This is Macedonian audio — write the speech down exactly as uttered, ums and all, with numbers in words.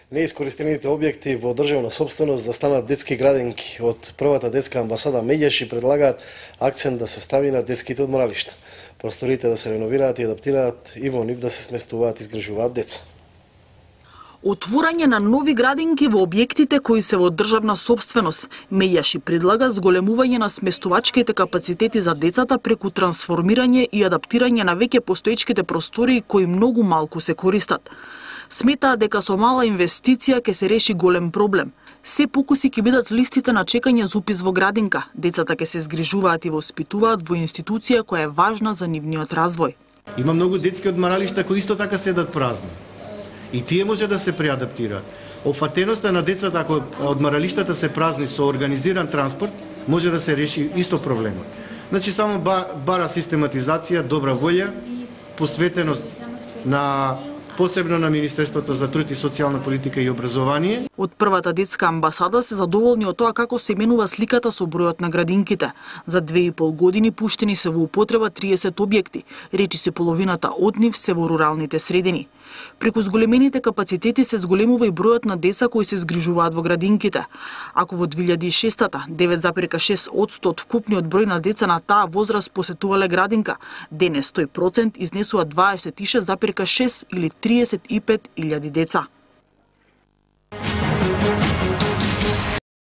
Неискористените објекти во државна собственост да станат детски градинки. Од првата детска амбасада Меѓаши предлагаат акцент да се стави на детските одморалишта. Просторите да се реновираат и адаптираат и во нив да се сместуваат и изгражуваат деца. Отворање на нови градинки во објектите кои се во државна собственост. Меѓаши предлага зголемување на сместувачките капацитети за децата преку трансформирање и адаптирање на веќе постоечките простори кои многу малку се користат. Сметаат дека со мала инвестиција ќе се реши голем проблем. Се покуси ќе бидат листите на чекање за упис во градинка. Децата ќе се згрижуваат и воспитуваат во институција која е важна за нивниот развој. Има многу детски одмаралишта кои исто така седат празни. И тие може да се преадаптираат. Опфатеноста на децата, ако одмаралиштата се празни со организиран транспорт, може да се реши исто проблемот. Значи само бара систематизација, добра волја, посветеност на посебно на Министерството за труд и социјална политика и образование. Од првата детска амбасада се задоволни од тоа како се именува сликата со бројот на градинките. За две и пол години пуштени се во употреба триесет објекти, речи се половината од нив се во руралните средини. Преку зголемените капацитети се зголемува и бројот на деца кои се згрижуваат во градинките. Ако во две илјади и шеста девет зарез и шест одсто од вкупниот број на деца на таа возраст посетувале градинка, денес тој процент изнесува дваесет и шест зарез и шест или триесет и пет илјади деца.